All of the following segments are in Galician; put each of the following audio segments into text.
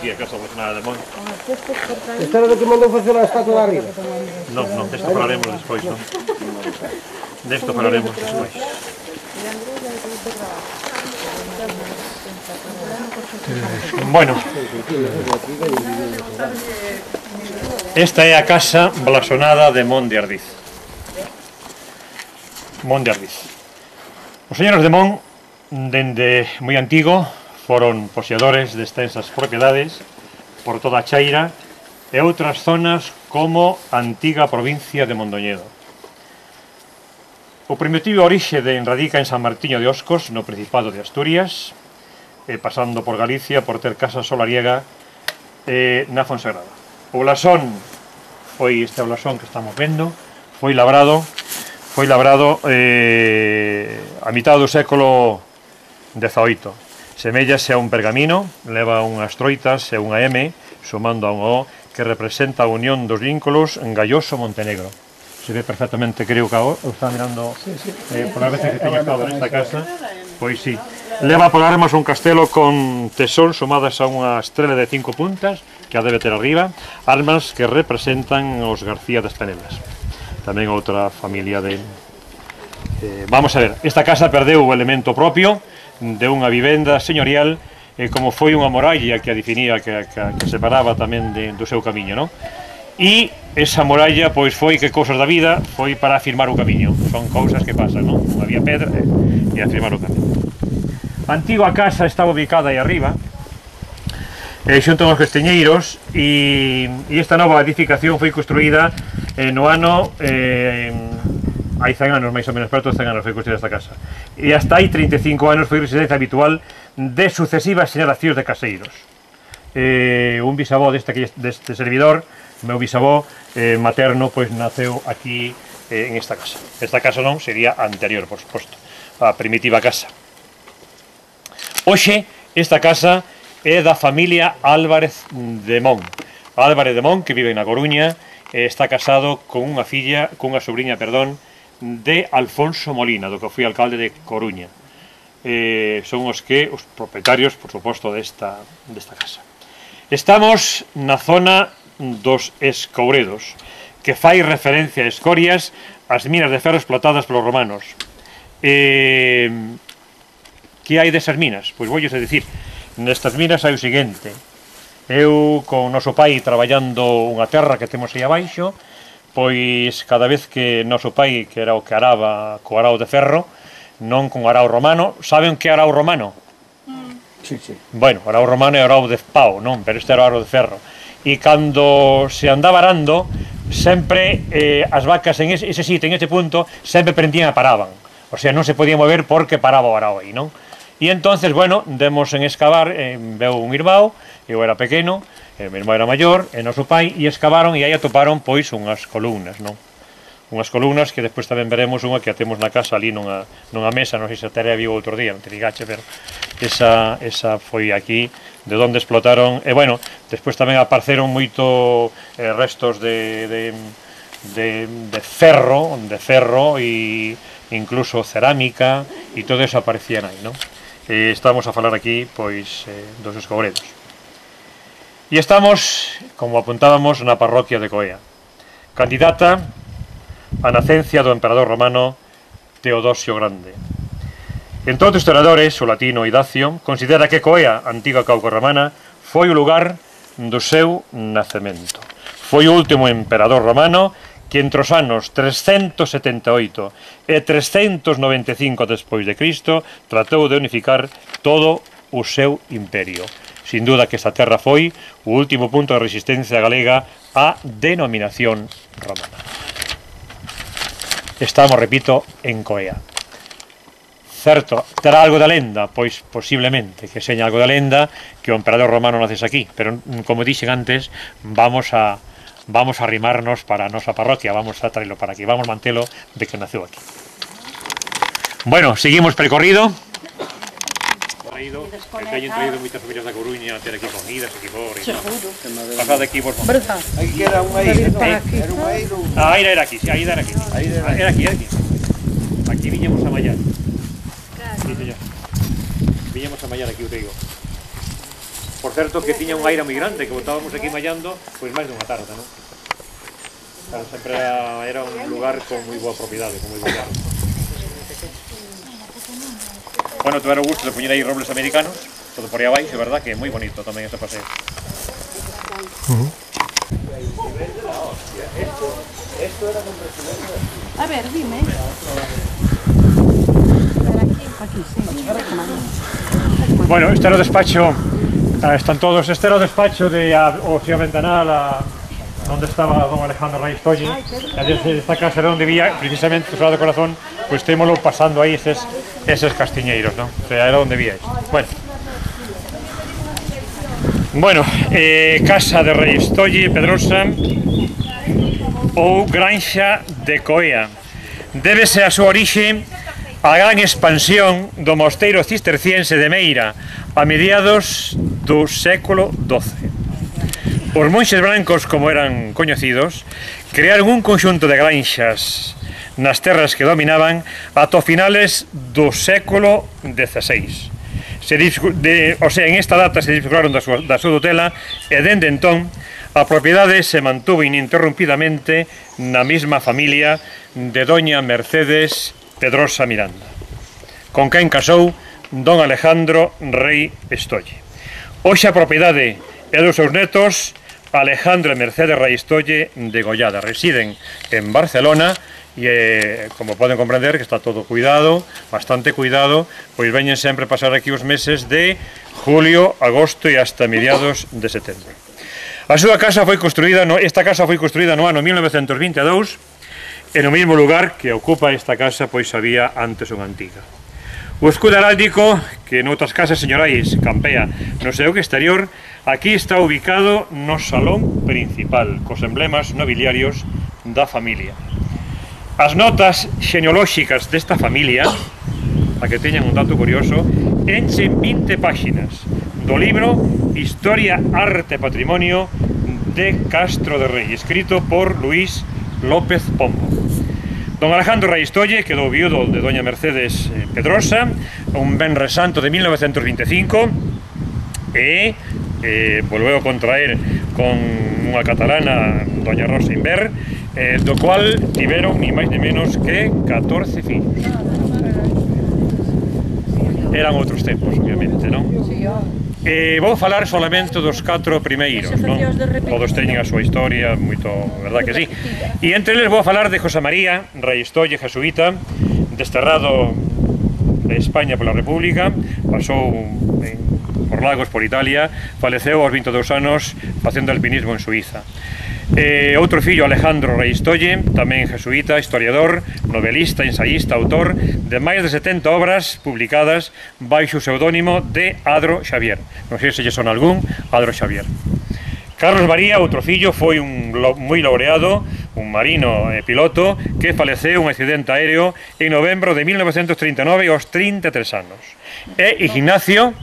aquí a casa blasonada de Mon. Esta era do que mandou facer a estatua de arriba? Non, non, desto falaremos despois, non? Desto falaremos despois. Bueno, esta é a casa blasonada de Mon de Ardiz. Mon de Ardiz. Os señores de Mon, dende moi antigo, foron poseedores de extensas propiedades por toda a Chaira e outras zonas como a antiga provincia de Mondoñedo. O primitivo orixe radica en San Martiño de Oscos, no Principado de Asturias, pasando por Galicia por ter casa solariega na Fonsagrada. O blasón foi este blasón que estamos vendo, foi labrado a mitad do século XVIII. Semellase a un pergamino, leva unhas troitas e unha M, sumando a un O, que representa a unión dos vínculos en Galloso-Montenegro. Se ve perfectamente, creo que o está mirando por as veces que teño estado nesta casa. Pois sí. Leva por armas un castelo con tesón sumadas a unha estrela de 5 puntas, que a debe ter arriba, armas que representan os García das Penelas. Tamén outra familia de... Vamos a ver, esta casa perdeu o elemento propio de unha vivenda señorial, como foi unha muralla que a definía, que separaba tamén do seu camiño, non? E esa muralla, pois foi que cousas da vida foi para afirmar o camiño. Son cousas que pasan, non? Non había pedra e afirmar o camiño. A antiga casa estaba ubicada aí arriba, xunto aos Castiñeiros, e esta nova edificación foi construída no ano... hai 100 anos, máis ou menos, perto de 100 anos foi construída esta casa. E hasta hai 35 anos foi residencia habitual de sucesivas xeracións de caseiros. Un bisavó deste servidor, meu bisavó materno, pois naceu aquí en esta casa. Esta casa non sería anterior, por suposto, a primitiva casa. Hoxe, esta casa é da familia Álvarez de Mon. Álvarez de Mon, que vive na Coruña, está casado con unha sobriña, de Alfonso Molina, do que foi alcalde de Coruña. Son os propietarios, por suposto, desta casa. Estamos na zona dos Escouredos, que fai referencia a escorias ás minas de ferro explotadas polos romanos. Que hai desas minas? Pois voulles a dicir, nestas minas hai o seguinte: eu, con o noso pai, traballando unha terra que temos aí abaixo, pois cada vez que noso pai, que era o que araba co arao de ferro, non con arao romano, saben que arao romano? Sí, sí. Bueno, o arao romano é o arao de pau, non? Pero este era o arao de ferro. E cando se andaba arando, sempre as vacas en ese sitio, en ese punto, sempre prendían e paraban. O sea, non se podía mover porque paraba o arao aí, non? E entonces, bueno, demos en excavar, veu un irmão, eu era pequeno, meu irmão era maior, e noso pai, e excavaron, e aí atoparon, pois, unhas columnas, non? Unhas columnas que despois tamén veremos unha que a temos na casa ali nunha mesa, non sei se a Tere viu outro día, non te digache, pero esa foi aquí, de onde explotaron, e bueno, despois tamén apareceron moito restos de ferro, e incluso cerámica, e todo eso aparecían aí, non? Estamos a falar aquí, pois, dos Escouredos. E estamos, como apuntábamos, na parroquia de Coea, candidata a nacencia do emperador romano Teodosio Grande. En todos os historiadores, o latino Idacio considera que Coea, antiga Cauca romana, foi o lugar do seu nacemento. Foi o último emperador romano que entre os anos 378 e 395 despois de Cristo tratou de unificar todo o seu imperio. Sin duda que esta terra foi o último punto de resistencia galega á denominación romana. Estamos, repito, en Coea. Certo, terá algo da lenda? Pois posiblemente que seña algo da lenda que o emperador romano naces aquí, pero como dixen antes, vamos a arrimarnos para a nosa parroquia, vamos a traerlo para aquí, vamos mantelo de que naceu aquí. Bueno, seguimos percorrido. Teñen traído moitas familias da Coruña a ter aquí comidas, aquí por... Pasad aquí, por favor. Aquí que era un eiro, era un eiro... A eira era aquí, sí, a eira era aquí. Era aquí. Aquí viñemos a mallar. Sí, señor. Viñemos a mallar aquí, o te digo. Por certo que tiña un aire moi grande, que botábamos aquí mallando, pois máis dunha tarde, non? Claro, sempre era un lugar con moi boa propiedade, con moi boa tarde. Bueno, tuveron o gusto de poñer aí robles americanos, todo por aí abaixo, é verdad que é moi bonito tamén ese paseo. A ver, dime. Bueno, este era o despacho, están todos, este era o despacho de o señor Ventanal, onde estaba don Alejandro Raistolle, e desde esta casa era onde vía, precisamente, o Sagrado Corazón, pois témolo pasando aí eses castiñeiros, non? O sea, era onde vía isto. Bueno, Casa de Raistolle, Pedrosa, ou Granxa de Coea. Débese a súa orixe a gran expansión do mosteiro cisterciense de Meira a mediados do século XII. Os monxes brancos, como eran coñecidos, crearon un conxunto de granxas nas terras que dominaban ata finales do século XVI. En esta data se disfrutaron da súa tutela e dende entón a propiedade se mantuvo ininterrumpidamente na mesma familia de doña Mercedes Pedrosa Miranda, con quen casou don Alejandro Rei Estolle. Hoxe a propiedade é dos seus netos Alejandro e Mercedes Raistolle de Gollada. Residen en Barcelona e, como poden comprender, que está todo cuidado, bastante cuidado, pois veñen sempre pasar aquí os meses de julio, agosto e hasta mediados de setembro. A súa casa foi construída, esta casa foi construída no ano 1922 e no mesmo lugar que ocupa esta casa pois había antes unha antiga. O escudo heráldico, que noutras casas señorais campea no seu exterior, aquí está ubicado no salón principal, cos emblemas nobiliarios da familia. As notas xenealóxicas desta familia, a que teñan un dato curioso, enchen 20 páxinas do libro Historia, Arte e Patrimonio de Castro de Rei, escrito por Luis López Pombo. Don Alejandro Raistolle quedou viudo de doña Mercedes Pedrosa un venres santo de 1925 e volveu a contraer con unha catalana, doña Rosa Inver, do cual tiveron ni máis ni menos que 14 fillos. Eran outros tempos, obviamente, non? Vou falar solamente dos 4 primeiros, non? Todos teñen a súa historia, moito, verdad que sí. E entre eles vou falar de José María Raistolle, jesuíta, desterrado de España pola República, pasou por Lagos, por Italia, faleceu aos 22 anos facendo alpinismo en Suiza. Outro fillo, Alejandro Raistolle, tamén jesuíta, historiador, novelista, ensayista, autor de máis de 70 obras publicadas baixo o pseudónimo de Adro Xavier. Non sei se lle son algún, Adro Xavier. Carlos María, outro fillo, foi un moi laureado, un marino e piloto que faleceu un accidente aéreo en novembro de 1939 aos 33 anos. E Ignacio,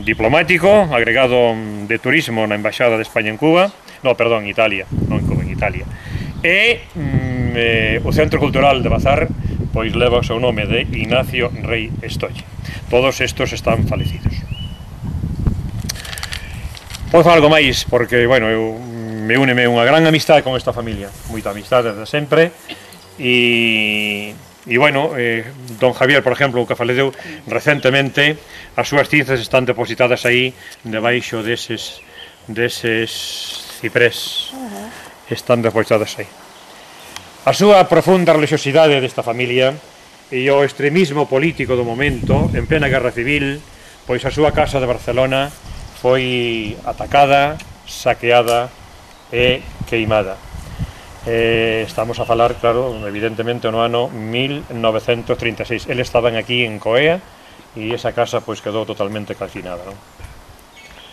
diplomático, agregado de turismo na Embaixada de España en Cuba, no, perdón, Italia, non en Italia. E o Centro Cultural de Bazar pois leva o seu nome de Ignacio Rei Estolle. Todos estos están falecidos. Podo falar algo máis, porque, bueno, me úneme unha gran amistade con esta familia, moita amistade desde sempre, e bueno, don Javier, por exemplo, que faleceu recentemente, as súas cinzas están depositadas aí debaixo deses ciprés, están depositadas aí. A súa profunda religiosidade desta familia e o extremismo político do momento, en plena guerra civil, pois a súa casa de Barcelona foi atacada, saqueada e queimada. Estamos a falar, claro, evidentemente no ano 1936. Eles estaban aquí en Coea e esa casa pois quedou totalmente calcinada, non?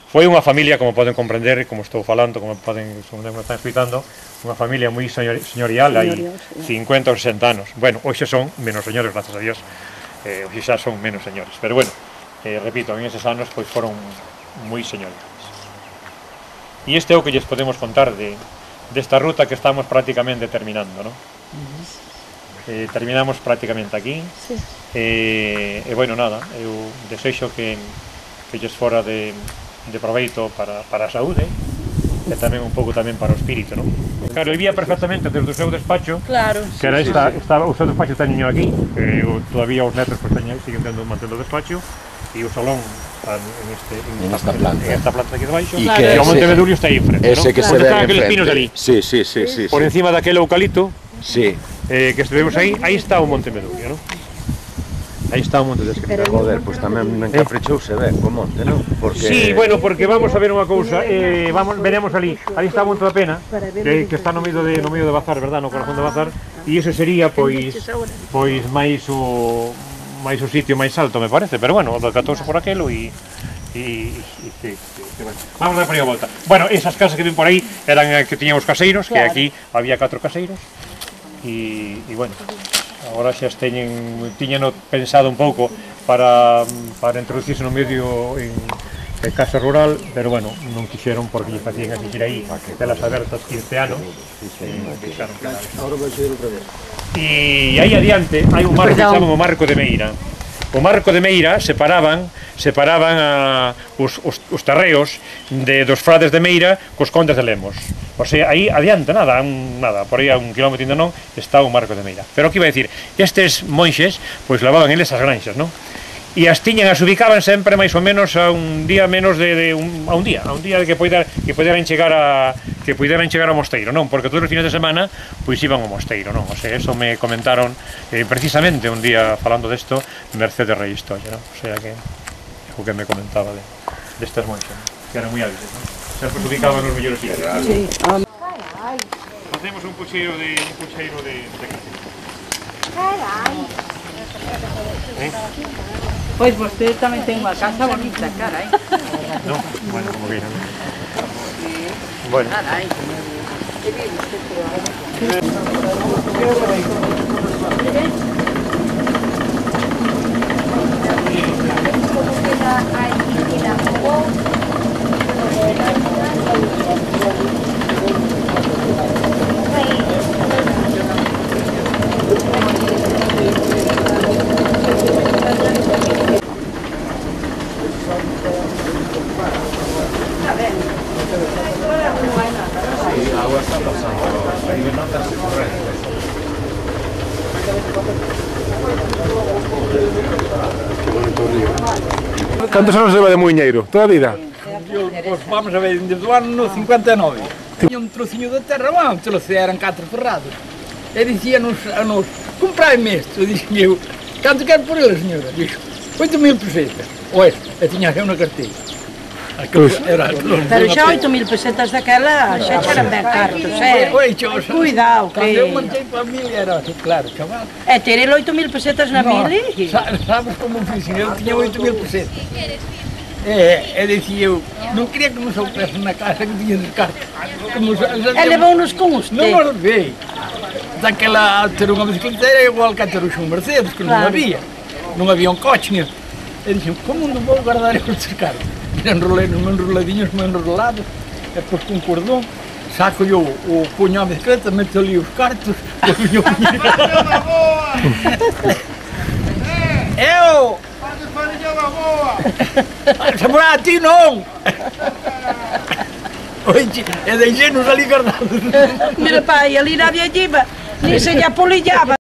Foi unha familia, como poden comprender, como estou falando, como me están explicando, unha familia moi señorial, hai 50 ou 60 anos. Bueno, hoxe son menos señores, gracias a Dios, hoxe xa son menos señores, pero bueno, repito, en eses anos pois foron moi señoriales. E este é o que lles podemos contar desta ruta que estamos prácticamente terminando, non? Terminamos prácticamente aquí, e bueno, nada, eu desexo que lles fora de de proveito para a saúde e tamén un pouco tamén para o espírito, non? Claro, vivía perfectamente desde o seu despacho, claro, que era o seu despacho teño aquí, todavía os netos pues, siguen mantendo o despacho, e o salón en esta planta aquí debaixo, e o Monte Medurio está aí enfrente, ese que se ve aqueles pinos ali. Sí. Por encima daquele eucalipto, sí. Que estuvemos aí está o Monte Medurio, non? Aí está o Monte de Escrita. Joder, pois tamén encaprichouse ben co monte, non? Sí, bueno, porque vamos a ver unha cousa, veremos ali está o Monte da Pena, que está no medio de Bazar, verdad, no corazón de Bazar, e ese sería, pois máis o sitio máis alto, me parece, pero bueno, decatouse por aquelo e vamos a dar por aí a volta. Bueno, esas casas que ven por aí eran que tiñan os caseiros, que aquí había 4 caseiros, e bueno, agora xa tiñano pensado un pouco para introducirse no medio en casa rural, pero bueno, non quixeron porque lle facían asistir aí telas abertas 15 anos e aí adiante hai un marco que chaman o Marco de Meira. O Marco de Meira separaban os terreos dos frades de Meira cos condes de Lemos. O sea, aí adiante, nada, por aí a 1 kilómetro ainda non, está o Marco de Meira. Pero o que iba a dicir, estes monxes, pois lavaban eles as granxas, non? E as ubicaban sempre máis ou menos a un día menos a un día que poderan chegar ao mosteiro, non? Porque todos os fines de semana pois iban ao mosteiro, non? O sea, eso me comentaron precisamente un día falando desto Mercedes Rey Historia, non? O sea que o que me comentaba destas monxas, que eran moi hábiles, non? Sempre se ubicaban nos mellores sitios. Sí. Facemos un pucheiro de café. Pois vostede tamén ten unha casa bonita, carai. Non? Bueno, como que non. Bueno. Carai. Que bien usted Cantos anos leva de muiñeiro? Toda a vida? Pois vamos a ver, desde o ano 59. Tiña un trociño de terra, un trozo, eran 4 ferrados. E dicían a nos, comprai-me isto. E dixen eu, canto quero por ele, señora? Dixo, 8.000 pesetas. Ois, e tiña eu na carteira. Pero xa 8.000 pesetas daquela xa eran ben cartos, Cuidado, que... Cando eu marchei para a milia era así, claro, chaval. E ter el 8.000 pesetas na mili? Sabes como fixen? Eu tiña 8.000 pesetas. E dicía eu, non quería que nos soupesen na casa que tiña de cartas. E levou-nos con usted? Non os levei. Daquela, ter unha bicicleta era igual que ter un Mercedes, que non había. Non había un coche, nin. E dixen, como non vou guardar estes cartas? Enrolei nos enroladinhos, enrolados, e depois com cordão, saco eu o punho a bicicleta, meto ali os cartos, e punho o punho. Eu! Faz farinha da boa! Saborá a ti non! Oye, e deixei-nos ali guardados. Mira pai, ali na viajiva, ni se lle apolillaba.